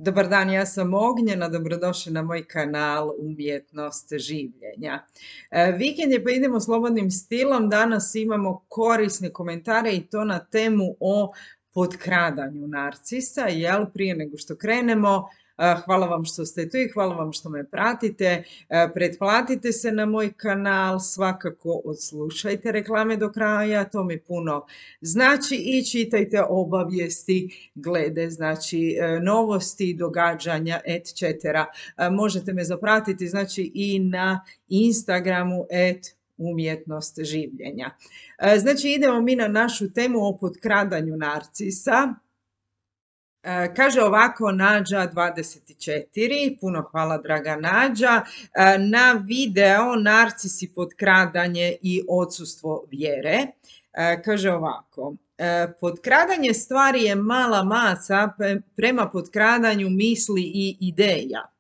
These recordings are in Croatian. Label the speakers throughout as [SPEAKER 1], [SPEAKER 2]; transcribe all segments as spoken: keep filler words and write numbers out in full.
[SPEAKER 1] Dobar dan, ja sam Ognjena, dobrodošli na moj kanal Umjetnost življenja. E, vikend je pa idemo slobodnim stilom, danas imamo korisne komentare i to na temu o potkradanju narcisa, jel? Prije nego što krenemo, e, hvala vam što ste tu i hvala vam što me pratite, e, pretplatite se na moj kanal, svakako odslušajte reklame do kraja, to mi puno znači i čitajte obavijesti glede znači e, novosti, događanja, et cetera. E, možete me zapratiti znači i na Instagramu et umjetnost življenja. E, znači idemo mi na našu temu o potkradanju narcisa. E, kaže ovako Nađa dvadeset četiri, puno hvala draga Nađa, e, na video narcisi, potkradanje i odsustvo vjere. E, kaže ovako, e, potkradanje stvari je mala maca prema potkradanju misli i ideja.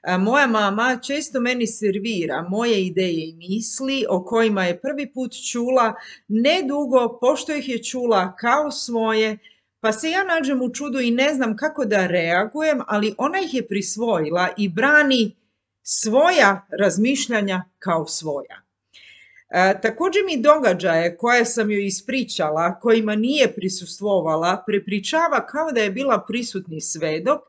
[SPEAKER 1] E, moja mama često meni servira moje ideje i misli o kojima je prvi put čula, nedugo pošto ih je čula kao svoje, pa se ja nađem u čudu i ne znam kako da reagujem, ali ona ih je prisvojila i brani svoja razmišljanja kao svoja. E, također mi događaje koje sam joj ispričala, kojima nije prisustvovala, prepričava kao da je bila prisutni svedok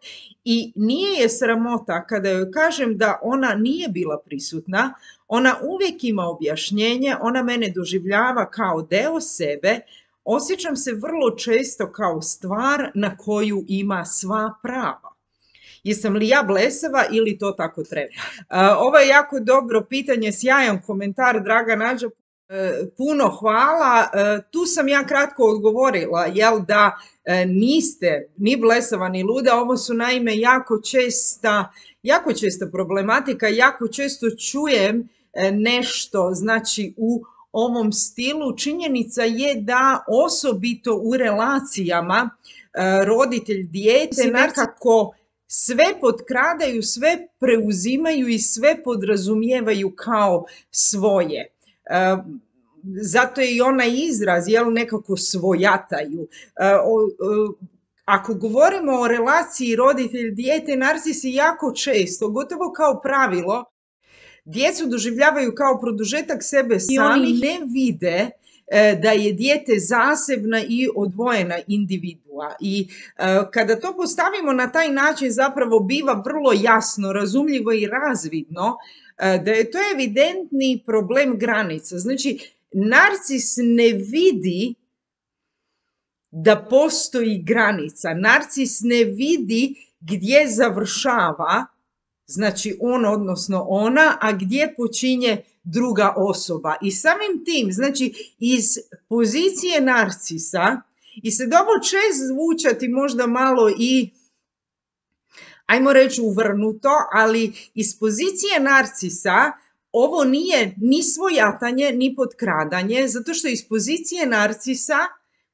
[SPEAKER 1] i nije je sramota kada joj kažem da ona nije bila prisutna, ona uvijek ima objašnjenje, ona mene doživljava kao deo sebe, osjećam se vrlo često kao stvar na koju ima sva prava. Jesam li ja blesava ili to tako treba? Ovo je jako dobro pitanje, sjajan komentar, draga Nađa, puno hvala. Tu sam ja kratko odgovorila, jel da niste ni blesava ni luda, ovo su naime jako česta, jako česta problematika, jako često čujem nešto, znači u ovom stilu. Činjenica je da osobito u relacijama roditelj dijete nekako sve potkradaju, sve preuzimaju i sve podrazumijevaju kao svoje. Zato je i onaj izraz, jel, nekako svojataju. Ako govorimo o relaciji roditelj-dijete, narcisi jako često, gotovo kao pravilo, djecu doživljavaju kao produžetak sebe samih i oni ne vide da je dijete zasebna i odvojena individua. I kada to postavimo na taj način zapravo biva vrlo jasno, razumljivo i razvidno da je to evidentni problem granica. Znači, narcis ne vidi da postoji granica. Narcis ne vidi gdje završava, znači on odnosno ona, a gdje počinje druga osoba. I samim tim, znači iz pozicije narcisa, i sad ovo će zvučati možda malo i, ajmo reći, uvrnuto, ali iz pozicije narcisa ovo nije ni svojatanje, ni potkradanje, zato što iz pozicije narcisa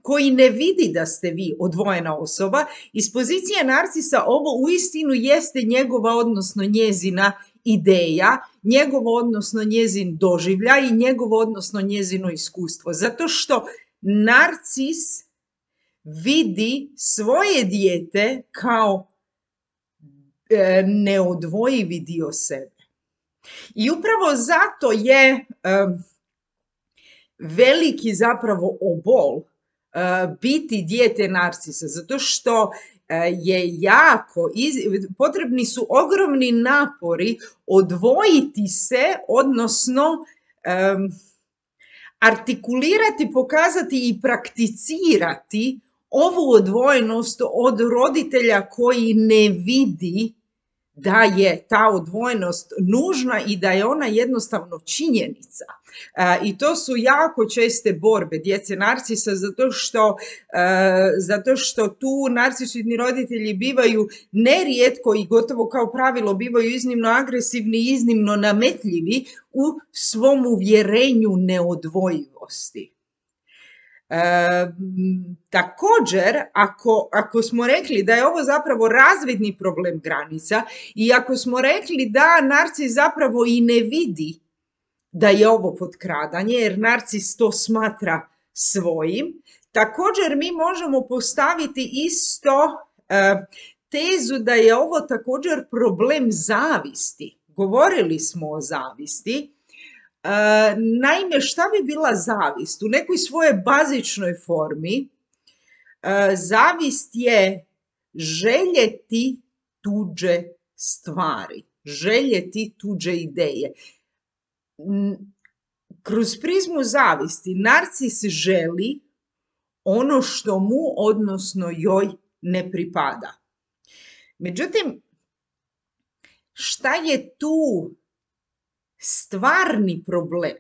[SPEAKER 1] koji ne vidi da ste vi odvojena osoba, iz pozicije narcisa ovo uistinu jeste njegova, odnosno njezina ideja, njegovo, odnosno njezin doživljaj i njegovo, odnosno njezino iskustvo. Zato što narcis vidi svoje dijete kao e, neodvojivi dio sebe. I upravo zato je e, veliki zapravo obol biti dijete narcisa, zato što je jako, potrebni su ogromni napori odvojiti se, odnosno um, artikulirati, pokazati i prakticirati ovu odvojenost od roditelja koji ne vidi da je ta odvojenost nužna i da je ona jednostavno činjenica. E, I to su jako česte borbe djece narcisa, zato što, e, zato što tu narcisoidni roditelji bivaju nerijetko i gotovo kao pravilo bivaju iznimno agresivni i iznimno nametljivi u svom uvjerenju neodvojivosti. E, također, ako, ako smo rekli da je ovo zapravo razvidni problem granica i ako smo rekli da narcis zapravo i ne vidi da je ovo potkradanje, jer narcis to smatra svojim, također mi možemo postaviti isto e, tezu da je ovo također problem zavisti. Govorili smo o zavisti. E, naime, šta bi bila zavist? U nekoj svojoj bazičnoj formi e, zavist je željeti tuđe stvari, željeti tuđe ideje. Kroz prizmu zavisti narcis želi ono što mu, odnosno joj, ne pripada. Međutim, šta je tu stvarni problem?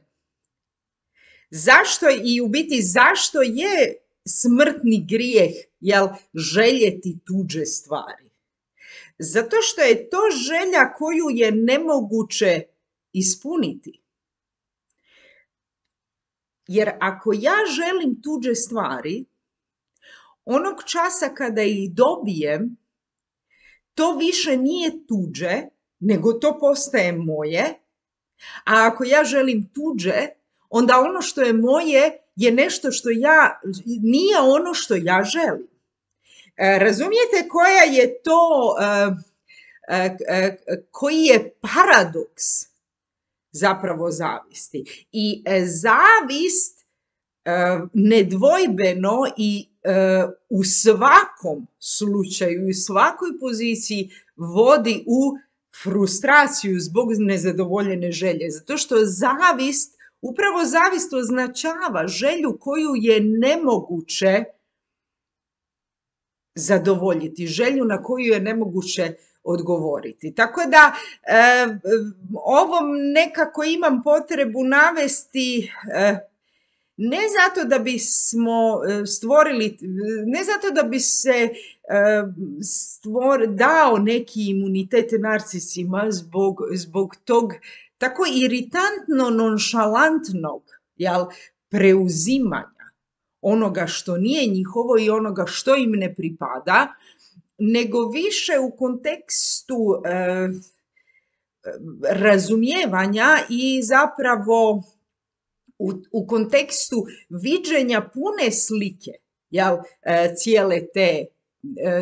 [SPEAKER 1] Zašto i u biti zašto je smrtni grijeh, jel, željeti tuđe stvari? Zato što je to želja koju je nemoguće ispuniti. Jer ako ja želim tuđe stvari, onog časa kada ih dobijem, to više nije tuđe, nego to postaje moje, a ako ja želim tuđe, onda ono što je moje je nešto što ja, nije ono što ja želim. E, razumijete koja je to, e, e, e, koji je paradoks zapravo zavisti? I e, zavist e, nedvojbeno i e, u svakom slučaju, u svakoj poziciji vodi u frustraciju zbog nezadovoljene želje. Zato što zavist, upravo zavist označava želju koju je nemoguće zadovoljiti, želju na koju je nemoguće odgovoriti. Tako da e, ovom nekako imam potrebu navesti e, ne zato da bismo stvorili, ne zato da bi se stvor, dao neki imunitet narcisima zbog, zbog tog tako iritantno nonšalantnog, jel, preuzimanja onoga što nije njihovo i onoga što im ne pripada, nego više u kontekstu eh, razumijevanja i zapravo u, u kontekstu viđenja pune slike, jel, eh, cijele te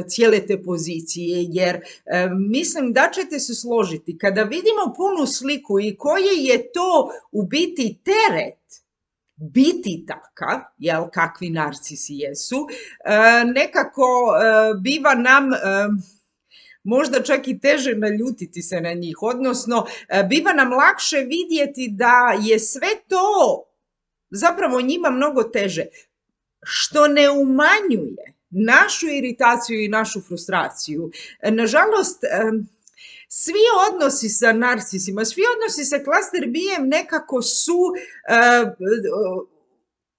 [SPEAKER 1] cijele te pozicije, jer e, mislim da ćete se složiti, kada vidimo punu sliku i koji je to u biti teret biti takav, jel, kakvi narcisi jesu, e, nekako e, biva nam e, možda čak i teže naljutiti se na njih, odnosno e, biva nam lakše vidjeti da je sve to zapravo njima mnogo teže, što ne umanjuje našu iritaciju i našu frustraciju. Nažalost, svi odnosi sa narcisima, svi odnosi sa klaster bijem nekako su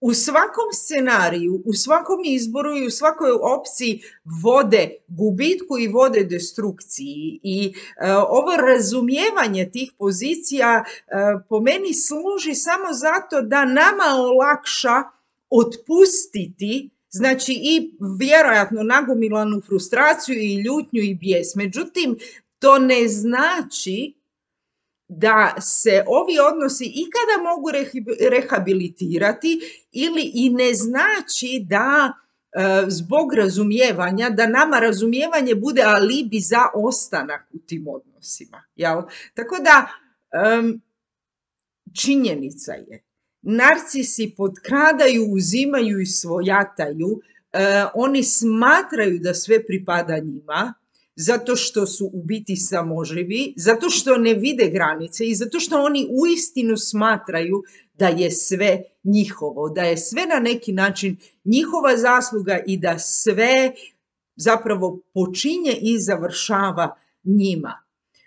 [SPEAKER 1] u svakom scenariju, u svakom izboru i u svakoj opciji vode gubitku i vode destrukciji. I ovo razumijevanje tih pozicija po meni služi samo zato da nama olakša otpustiti, znači i vjerojatno nagomilanu frustraciju i ljutnju i bijes. Međutim, to ne znači da se ovi odnosi ikada mogu rehabilitirati ili i ne znači da e, zbog razumijevanja, da nama razumijevanje bude alibi za ostanak u tim odnosima. Jel? Tako da um, činjenica je, narcisi potkradaju, uzimaju i svojataju, e, oni smatraju da sve pripada njima, zato što su u biti samoživi, zato što ne vide granice i zato što oni uistinu smatraju da je sve njihovo, da je sve na neki način njihova zasluga i da sve zapravo počinje i završava njima.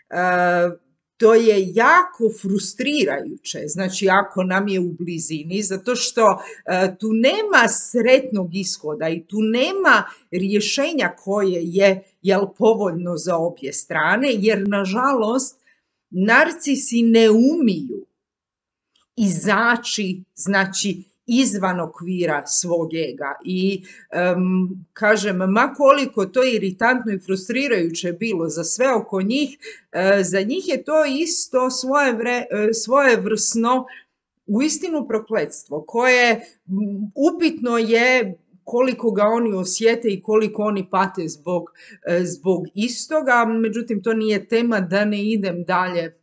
[SPEAKER 1] E, To je jako frustrirajuće, znači ako nam je u blizini, zato što e, tu nema sretnog ishoda i tu nema rješenja koje je, jel, povoljno za obje strane, jer nažalost narcisi ne umiju izaći, znači, izvan okvira svog ega i um, kažem, ma koliko to iritantno i frustrirajuće bilo za sve oko njih, uh, za njih je to isto svoje vre, uh, svojevrsno uistinu prokletstvo koje um, upitno je koliko ga oni osjete i koliko oni pate zbog, e, zbog istoga, međutim to nije tema, da ne idem dalje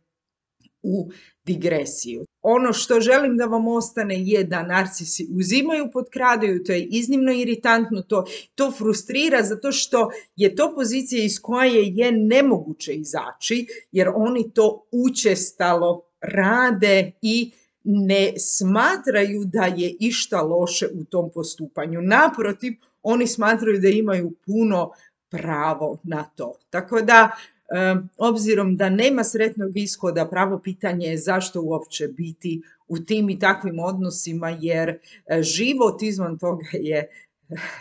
[SPEAKER 1] u digresiju. Ono što želim da vam ostane je da narcisi uzimaju, potkradaju, to je iznimno iritantno, to, to frustrira zato što je to pozicija iz koje je nemoguće izaći, jer oni to učestalo rade i ne smatraju da je išta loše u tom postupanju. Naprotiv, oni smatraju da imaju puno pravo na to. Tako da, obzirom da nema sretnog ishoda, pravo pitanje je zašto uopće biti u tim i takvim odnosima, jer život izvan toga je,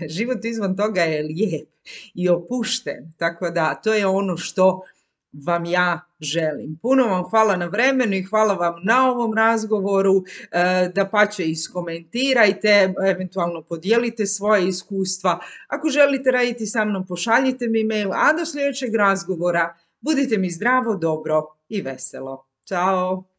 [SPEAKER 1] život izvan toga je lijep i opušten. Tako da to je ono što vam ja želim. Puno vam hvala na vremenu i hvala vam na ovom razgovoru. Dapače, iskomentirajte, eventualno podijelite svoje iskustva. Ako želite raditi sa mnom, pošaljite mi mail, a do sljedećeg razgovora budite mi zdravo, dobro i veselo. Ćao!